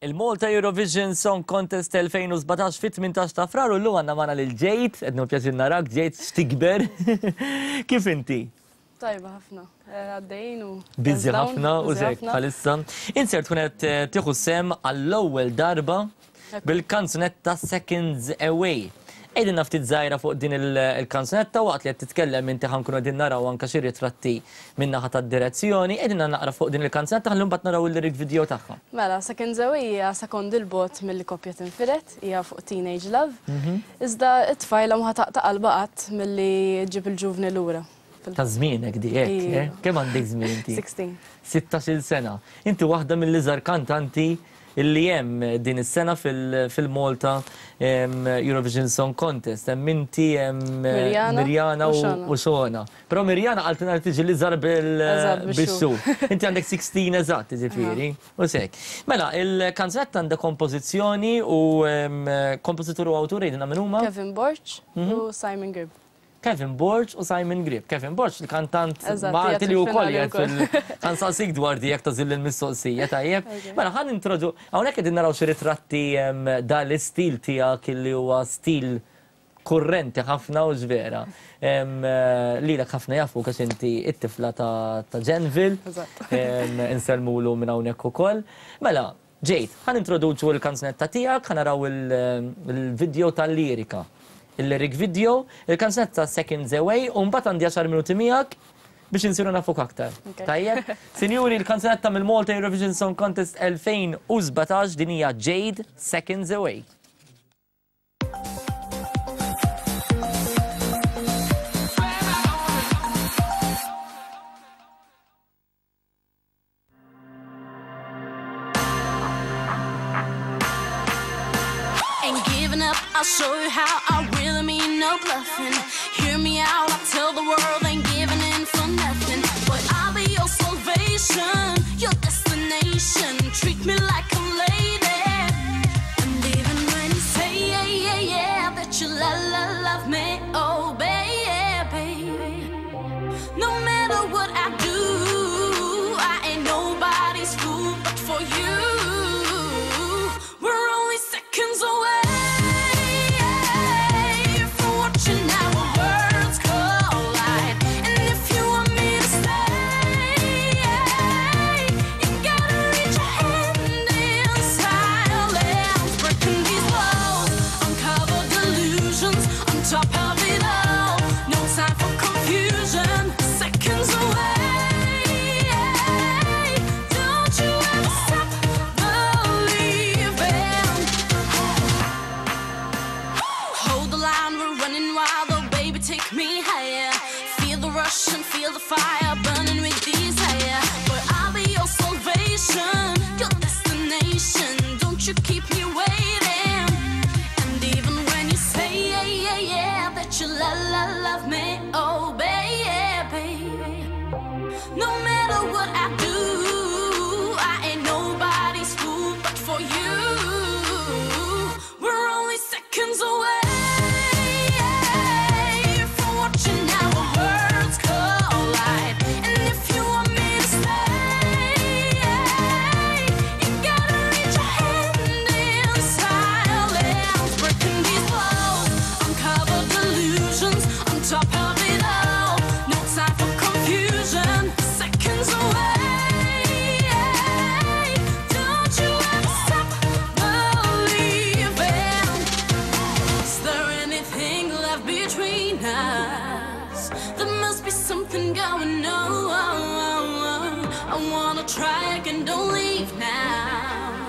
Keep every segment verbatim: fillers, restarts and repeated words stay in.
Il-Malta Eurovision Song Contest elfejn u sbatax fit-tmintax ta' Frar u llum għandna magħna lil Jade, qed pjaċir narak, Jade, x'tikber. Kif inti? Tajba ħafna. Eh, Għaddejn u. Busy ħafna u zek bħalissa. Insert tkun qed eh, tieħu sehem għall-ewwel darba bil-kanzunetta Seconds Away. Għidilna ftit żgħira fuq din il-kanzunetta. Waqt li qed titkellem inti, ħa nkunu qegħdin naraw anke xi ritratti min-naħa tad-direzzjoni. Għidilna naqra fuq din il-kanzunetta ħalli mbagħad naraw il-lyric video tagħha. Mela, Seconds Away hija sekondi 'l bogħod mill-koppja tinfired, hija fuq Teenage Love. Mhm. Iżda it-tfajla ma taqta' qalba qatt milli ġib il-ġuvni lura. Ta' żmienek di hekk, eh? Kemm għandek żmien inti? sittax. sittax-il sena. Inti waħda mill-iżgħar kantanti illi hemm din is-sena fil-Malta Eurovision Song Contest. Hemm inti, hemm Mirjana Mirjana u Shona. Però Mirjana qaltilna li tiġi l-iżgħar bil-xhur. Inti għandek sittax eżatt, ġifieri. U hekk. Mela, il-kanzunetta għandha kompożizzjoni u kompożitur u awtur, għidilna min huma? Kevin Borg u Simon Gribb. Kevin Borg u Simon Gribb. Kevin Borg, il-kantant Malti li wkoll jgħid fil ħa nsaqsik dwar di jekk tagħżilli l-mistoqsija, tajjeb. Mela, ħa nintrodu, hawnhekk qegħdin naraw xi ritratti dal-istil tiegħek li huwa stil kurrenti ħafna u ġvera. Lilek ħafna jafu għax inti it-tifla ta' Genville. Insellmulu minn hawnhekk ukoll. Mela, Jade, ħa nintroduċu l-kanzunetta tiegħek, ħa naraw il-video tal-lirika. Il-lyric video, il-kanzunetta Seconds Away, u mbagħad għandi għaxar minuti miegħek biex insiru nafuk aktar. Tajjeb? Sinjuri, il-kanzunetta mill-Malta Eurovision Song Contest elfejn u sbatax, din hija Jade, Seconds Away. I'll show you how I really mean no bluffing. Hear me out, I'll tell the world ain't giving in for nothing. But I'll be your salvation, your destination. Treat me like a lady. And even when you say yeah, yeah, yeah, that you la la love me, oh baby. No matter what I do, I ain't nobody's fool but for you. We're only seconds away from watching our worlds collide. And if you want me to stay, you gotta reach your hand in silence. Breaking these walls, uncover delusions. On top of it all, no time for confusion. Seconds away. Don't you ever stop believing. Hold the line, we're running wild. Oh, baby, take me higher. Feel the rush and feel the fire burning with desire. But I'll be your salvation, your destination. Don't you keep me waiting. And even when you say yeah, yeah, yeah, that you la la love me, oh baby. No matter what I do, I ain't nobody's fool but for you. We're only seconds away from watching our worlds collide. And if you want me to stay, you gotta reach your hand in silence. Breaking these walls, uncover delusions. On top of it all, no time for confusion. Seconds away. Don't you ever stop believing. Is there anything left between us? There must be something going on. I wanna try again, don't leave now.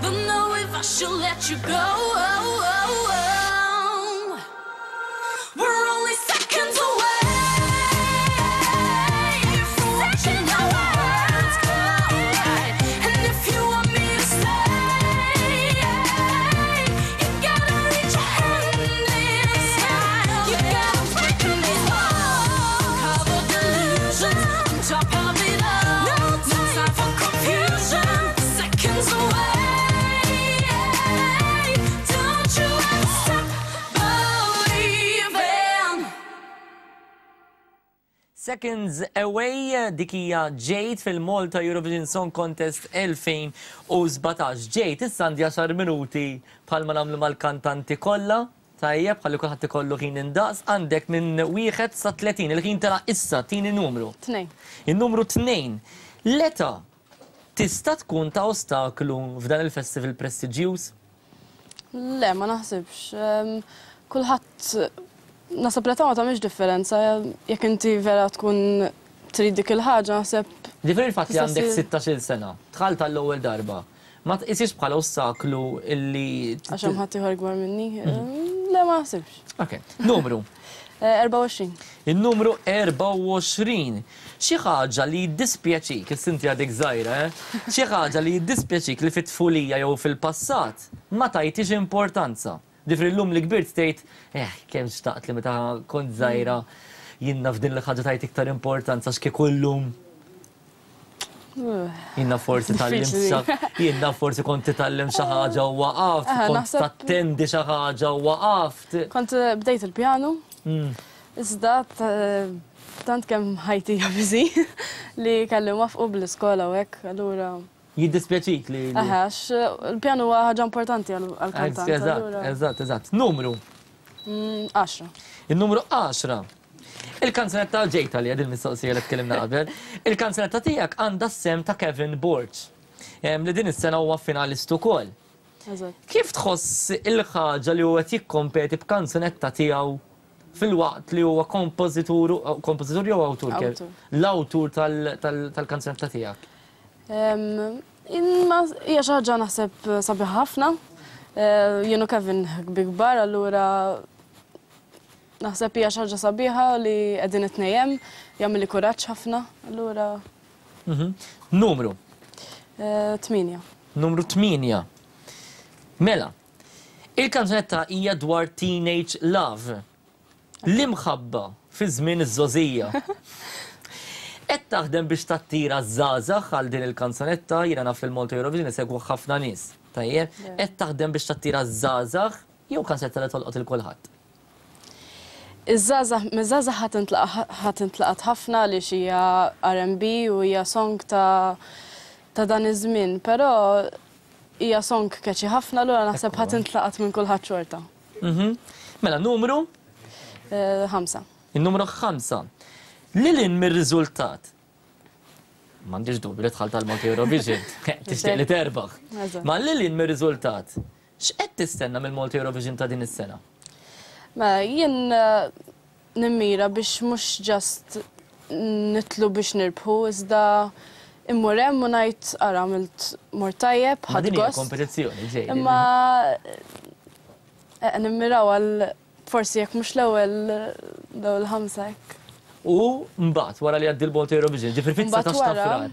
Don't know if I should let you go. We're only seconds away from watching our worlds collide. And if you want me to stay, you gotta reach your hand inside. You gotta break these walls, uncover delusions. On top of it all, no time for confusion. Seconds away. Don't you ever stop Seconds Away, dik hija Jade fil-Malta Eurovision Song Contest elfejn u sbatax. Jade, issa għandi għaxar minuti bħalma nagħmlu mal-kantanti kollha. Tajjeb, ħalli kulħadd ikollu ħin indaqs, għandek minn wieħed sa tletin, il-ħin tela issa, tini numru. Tnejn. Il-numru tnejn. L-età tista' tkun ta' ostaklu f'dan il-festival prestiġjuż? Le, ma naħsibx. Em, Kulħadd naħseb l-età ma tagħmilx differenza. Jekk inti vera tkun trid dik il-ħaġa, naħseb. Ġifieri il-fatt li Tista' għandek ssir- sittax-il sena, dħalt għall-ewwel darba, ma tqisix bħala ostaklu illi Għax hemm ħadd ieħor ikbar minni. Em, Le, ma naħsibx. Ok, numru. Eh, erbgħa u għoxrin. Il-numru erbgħa u għoxrin. Xi ħaġa li jiddispjaċik, issa inti għadek żgħira, eh? Xi ħaġa li jiddispjaċik li fit-tfulija jew fil-passat ma tajtix importanza. Ġifieri llum li kbirt tgħid, eh, kemm xtaqt li meta kont żgħira jiena f'din l-ħaġa tajt iktar importanza x'kieku llum. Jiena forsi tgħallimt Diffiċli. xa- jiena forsi kont titgħallem xi ħaġa u waqaft, Eh, kont naħseb- tattendi xi ħaġa u waqaft. Kont eh, bdejt il-pjanu, Mm. iżda t- tant kemm ħajti hija busy li kelli nwaffqu bl-iskola u hekk, allura. Jiddispjaċik li. li- Aha, għax il-pjanu huwa ħaġa importanti għal-kantant. Eżatt, allura- eżatt, eżatt. Numru. Mm, Għaxra. Il-numru għaxra. Il-kanzunetta ġejta li għad il-mistoqsija li tkellimna qabel. Il-kanzunetta tiegħek għandha s-sehem ta' Kevin Borg. Em, Li din is-sena huwa finalist ukoll. Eżatt. Kif tħoss il-ħaġa li huwa qed jikkompeti b'kanzunetta tiegħu filwaqt li huwa kompożitur kompożitur jew awtur? Kev? Awtur. L-awtur tal- tal- tal-kanzunetta tiegħek. Em, Imma hija xi ħaġa naħseb sabiħ ħafna. Eh, Jien u Kevin kbar, allura naħseb hija xi ħaġa sabiħa li qegħdin it-tnejn hemm, jagħmel kuraġġ ħafna, allura. Mhm. Numru. eh, tmienja. Numru tmienja. Mela, il-kanzunetta hija dwar teenage love. L-imħabba fi żmien iż-żgħożija. Qed taħdem biex tattira żgħażagħ għal din il-kanzunetta, jiena naf il-Malta Eurovision isegwu ħafna nies. Tajjeb, qed taħdem biex tattira żgħażagħ jew kanzunetta li tolqot il kulħadd? Iż-żgħażagħ, miż-żgħażagħ ħa tintlaqat ħafna li hija R and B u hija song ta' ta' dan iż-żmien, però hija song catchy ħafna, allura naħseb Ekku. ħa tintlaqat minn kulħadd xorta. Mhm. Mela, numru? Eh, Ħamsa. Il-numru ħamsa. Lil hinn mir-riżultat. M'għandix dubju li dħalt tal-Malta Eurovision. Tixtieq li terbaħ. Eżatt. Ma lil hinn mir-riżultat. X'qed tistenna mill-Malta Eurovision ta' din is-sena? Mela, jien eh, nimmira biex mhux just nitlu biex nirbħu, iżda immur hemm u ngħid ara għamilt mort tajjeb, Ma ħadt din hija gost. kompetizzjoni ġej. Imma eh, nimmiraw għal forsi jekk mhux l-ewwel l-ewwel ħamsa hekk. U mbagħad wara li għaddi l-Malta Eurovision, ġifieri Mbagħad fit-dsatax ta' wara, Frar.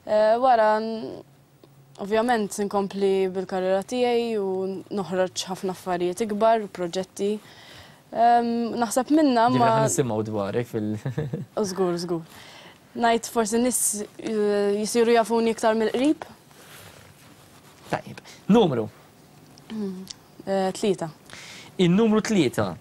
eh, Wara n- ovvjament nkompli bil-karriera tiegħi u noħroġ ħafna affarijiet ikbar, proġetti. Em, Naħseb minna Ġifieri ma ħa nisimgħu dwarek fil- Żgur, żgur. Ngħid forsi nies eh, jisiru jafuni iktar mill-qrib. Tajjeb. Numru. Eh, Tlieta. Il-numru tlieta.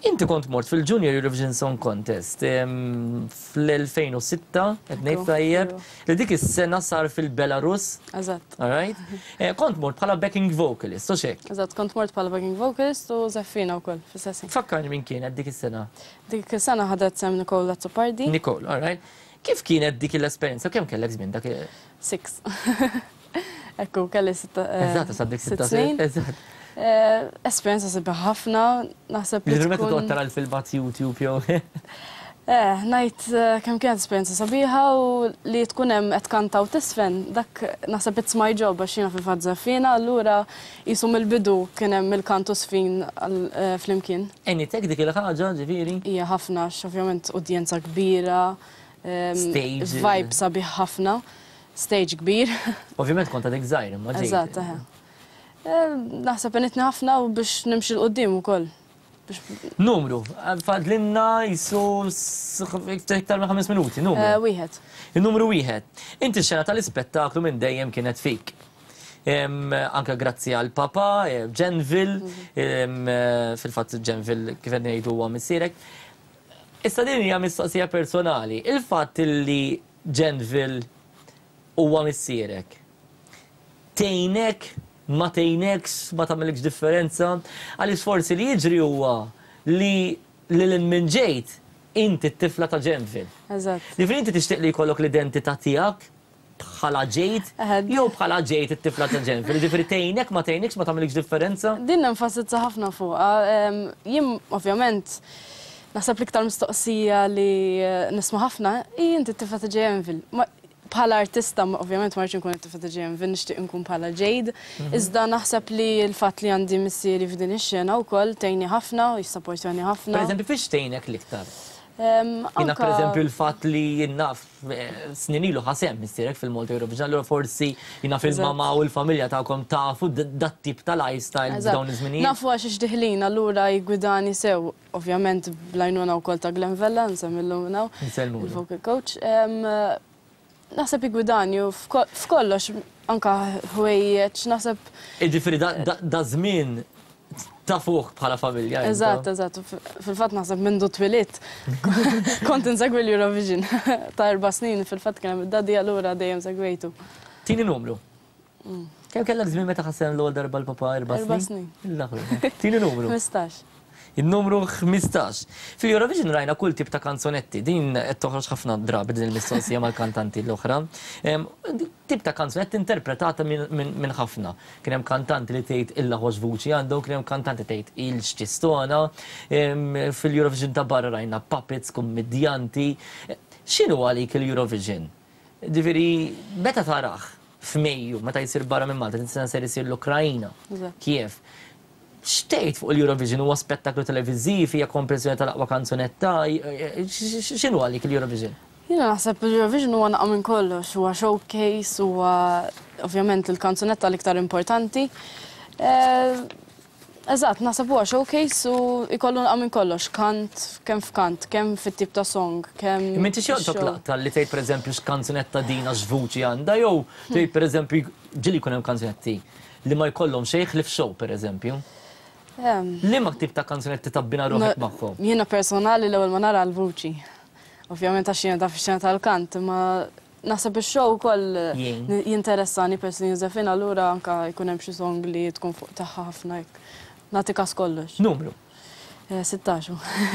Inti kont mort fil-Junior Eurovision Song Contest em, fl-elfejn u sitta, qed ngħid Ekku, tajjeb, iva. li dik is-sena sar fil-Belarus, Eżatt. all right? Eh, Kont mort bħala backing vocalist, u xek. Eżatt, kont mort bħala backing vocalist u żeffina wkoll fis-session. Fakkarni min kienet dik is-sena. Dik is-sena ħadet sehem Nicole Azzopardi. Nicole, all right? Kif kienet dik l-esperjenza? Kemm kellek żmien dak? Six. Ekku, kelli sitta. eh, Eżatt, sa dik sitt sitta snin. Eżatt. Eh, Esperjenza sabiħa ħafna, naħseb li Ġifieri meta tkun- toqgħod tara l-filmat YouTube jew. Eh, ngħid eh, kemm kienet esperjenza sabiħa u li tkun hemm qed kanta u tiżfen, dak naħseb it's my job għax jiena fil-fatt żeffina, allura qisu mill-bidu kien hemm il-kant u żfin għal- eh, flimkien. Għenitek dik il-ħaġa, ġifieri? Hija ħafna għax ovvjament udjenza kbira, em, Stage. Vibe sabiħ ħafna, stage kbir. Ovvjament kont għadek żgħir, imma ġejt. Eżatt, eħe. Eh, Naħseb għenitni ħafna u biex nimxi 'l quddiem ukoll. Biex Numru, fadlinna qisu iktar minn ħames minuti, numru. eh, wieħed. Il-numru wieħed. Inti xena tal-ispettaklu minn dejjem kienet fik. Em, anka grazzi għal papa, eh, Genville, em, eh, fil-fatt Genville kif qed ngħidu huwa missierek. Issa din hija mistoqsija personali. Il-fatt li Genville huwa missierek. Tgħinek, ma tgħinekx, ma tagħmilx differenza, għaliex forsi li jiġri huwa li lil minn ġejt inti t-tifla ta' Genville. Eżatt. Jiġifieri inti tixtieq li jkollok l-identità tiegħek bħala Jade, Eħe. jew bħala Jade it-tifla ta' Genville. Jiġifieri tgħinek, ma tgħinekx, ma tagħmilx differenza. Din nenfasizza ħafna fuqha. Em, Jien ovvjament naħseb l-iktar mistoqsija li eh, nisma' ħafna hi inti t-tifla ta' Genville. Ma- Bħala artista, ma- ovvjament ma rridx nkun it-tifla ta' Genville, nixtieq nkun bħala Jade. Iżda naħseb li l-fatt li għandi missieri f'din ix-xena wkoll tgħinni ħafna, jissapportjani ħafna. Per eżempju, fiex tgħinek l-iktar? Em, Jiena anka- per eżempju l-fatt li jien naf eh, snin ilu ħa sehem missierek fil-Malta Eurovision, allura forsi jiena fil-mama u l-familja tagħkom tafu d- dat tip ta' lifestyle Eżatt. f'dawn iż-żminijiet. Nafu għax ix-diħlin, allura jgwidani sew, ovvjament bl-għajnuna wkoll ta' Glenn Vella, nsemmillu minn hawn, Nsellmulu. il-vocal coach. Em, Naħseb jgwidani u f'ko- f'kollox, anka ħwejjeġ, naħseb, Jiġifieri da- da- da żmien tafuh bħala familja. intom. eżatt, eżatt, f- fil-fatt naħseb mindu twelidt, kont insegwi l-Eurovision ta' erba' snin, fil-fatt kien hemm id-daddy allura dejjem segwejtu. Tini numru. Kemm kellek żmien meta ħa sehem l-ewwel darba l-papa erba' Erba' snin? snin. Il-aħħar. Tini numru. Ħmistax. Il-numru ħmistax. Fil-Eurovision rajna kull tip ta' kanzonetti, din qed toħroġ ħafna drabi din il-mistoqsija mal-kantanti l-oħra. Em, Tip ta' kanzonetti interpretata minn min, min ħafna. Kien hemm kantanti li tgħid illa ħox vuċi għandhom, kien hemm kantanti tgħid il x'ċistona. Em, Fil-Eurovision ta' barra rajna puppets, kummedjanti. X'inhu għalik il-Eurovision? Jiġifieri, meta tarah f'Mejju, meta jsir barra minn Malta, din sena ser isir l-Ukrajna, Eżatt. Kiev. X'tgħid fuq il-Eurovision huwa spettaklu televiżiv, hija komprensjoni tal-aqwa kanzunetta, x'inhu għalik il-Eurovision? Jiena naħseb il-Eurovision huwa naqa minn kollox, huwa showcase, huwa ovvjament il-kanzunetta l-iktar importanti. Eh, Eżatt, naħseb huwa showcase u jkollu naqa minn kollox, kant, kemm f'kant, kemm fit-tip ta' song, kemm. Imma inti xi joqtok show. laqta li tgħid pereżempju x'kanzunetta din għax vuċi għandha jew tgħid pereżempju ġieli jkun hemm kanzunetti li ma jkollhom xejn ħlief show pereżempju. Ehm, Liema tip ta' kanzunetti tabbina ruħek magħhom? Jiena personali l-ewwel ma nara l-vuċi. Ovvjament għax jiena taf ix-xena tal-kant, imma naħseb ix-show ukoll Jien. jinteressani peress li Josephine allura anka jkun hemm xi song li tkun fuq tagħha ħafna hekk. Nagħti kas kollox. Numru. Eh, sittax.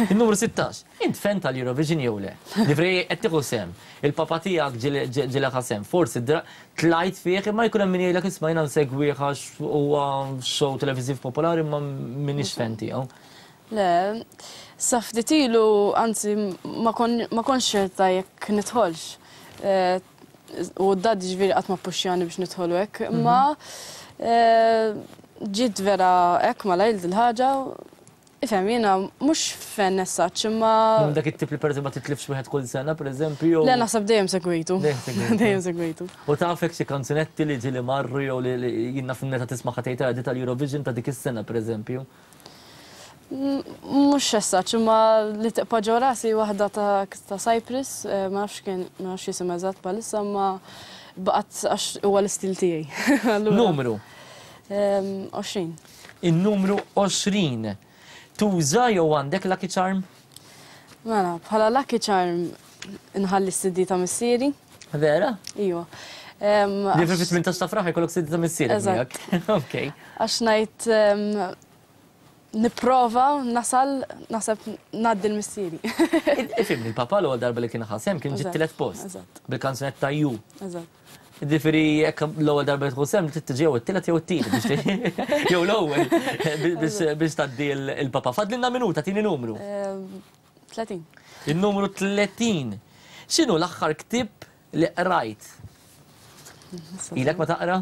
Il-numru sittax. Int fan tal-Eurovision jew le? Jiġifieri qed tieħu sehem. Il-papa tiegħek ġieli ħa sehem. Forsi dra- tlajt fih imma jkun hemm min jgħidlek isma' jiena nsegwih għax huwa show televiżiv popolari imma m'iniex fan tiegħu. Le, sa ftit ilu, anzi, ma kon- ma kontx ċerta jekk nidħolx. Eh, U d-dad ġifieri qatt ma puxjani biex nidħolu hekk, imma eh, ġiet vera hekk malajr dil-ħaġa. Ifhem, jiena mhux fan essaċ, imma Minn dak it-tip li pereżempju ma titlifx wieħed kull sena, pereżempju. jew- Le, naħseb dejjem segwitu. Dejjem segwitu. Dejjem segwitu. U tafek xi kanzunetti li ġieli marru jew li li jiena fin-neta tisma' ħatejta di tal-Eurovision ta' dik is-sena pereżempju. Mhux essaċ, imma li tibqa' ġo rasi waħda ta' ta' Cyprus, eh, ma nafx kien, ma nafx jisim eżatt bħalissa, imma baqgħet għax huwa l-istil tiegħi. Allura, Numru. ehm, għoxrin. Il-numru għoxrin. Tuża jew għandek Lucky Charm? Mela, bħala Lucky Charm nħalli s-C D ta' missieri. Vera? Iwa. Ehm, Li għax- fi tmintax ta' Frar jkollok C D ta' missierek Eżatt. miegħek. Ok. Għax ngħid ehm, nipprova nasal, naħseb ngħaddi l-missieri. Ifhimni, il-papa l-ewwel darba li kien ħa sehem kien ġie Eżatt, tielet post. eżatt. Bil-kanzunetta Ju. Eżatt. Jiġifieri, jekk l-ewwel darba li tieħu sehem, trid tiġi jew it-tielet jew it-tieni biex ti- jew l-ewwel biex biex tgħaddi il-papa. Fadlilna minuta, tini numru. Ehm, tletin. Il-numru tletin. X'inhu l-aħħar ktieb li qrajt? Ilek ma taqra?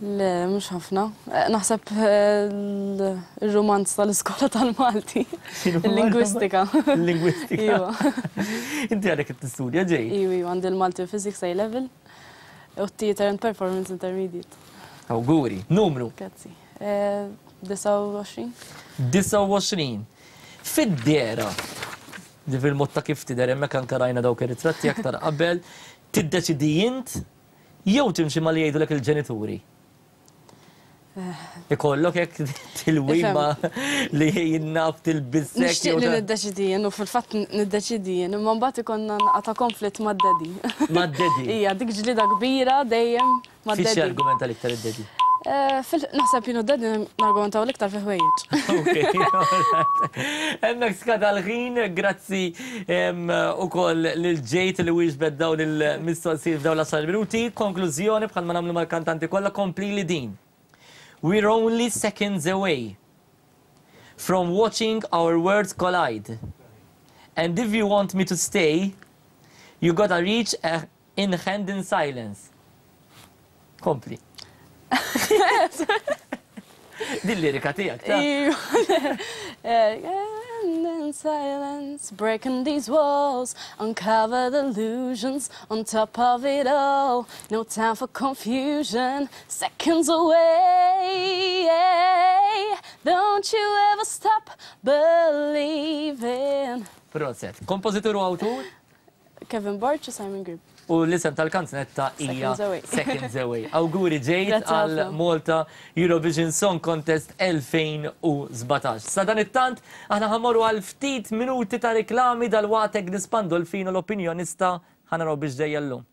Le, mhux ħafna. Eh, Naħseb eh, l- il-romanz tal-iskola tal-Malti. Il-lingwistika. Il-lingwistika. Iwa. Inti għalek tistudja ġej. Iwa, iwa, għandi l-Malti Physics A Level u Theater and Performance Intermediate. Awguri. Numru. Grazzi. Eh, disgħa u għoxrin. disgħa u għoxrin. Fid-dehra, di fil-mod ta' kif tidher hemmhekk anke rajna dawk ir-ritratti aktar qabel, tiddeċidi int jew timxi ma li jgħidulek il-ġenituri? Ikollok hekk tilwima li jinnaf tilbissek. Nixtieq li niddeċidi jien u fil-fatt niddeċidi jien, imma mbagħad ikollna naqra konflitt mad-daddy. Mad-daddy? Ija, dik ġlida kbira dejjem mad-daddy. Fiex argumenta l-iktar id-daddy? Eh, naħseb jien u d-daddy nargumentaw l-iktar fi ħwejjeġ. Ok, hemmhekk skada l-ħin, grazzi ukoll lil Jade li wieġbet dawn il-mistoqsijiet f'dawn l-għaxar minuti. Konklużjoni bħalma nagħmlu mal-kantanti kollha, kompli li din. We're only seconds away from watching our worlds collide. And if you want me to stay, you gotta reach a in hand in silence. Kompli. Din lirika tiegħek, ta' In silence, breaking these walls, uncover the illusions on top of it all. No time for confusion, seconds away. Don't you ever stop believing. Prosit. Kompożitur u awtur? Kevin Borg u Simon Grib. U l-isem tal-kanzunetta hija Seconds Away. Seconds Away. Awguri, Jade, Grazzi għal ħafna. Malta Eurovision Song Contest elfejn u sbatax. Sa dan it-tant, aħna ħa mmorru għal ftit minuti ta' reklami, dal-waqt Agnes Pandolfino, l-opinjonista, ħa naraw biex ġejja llum.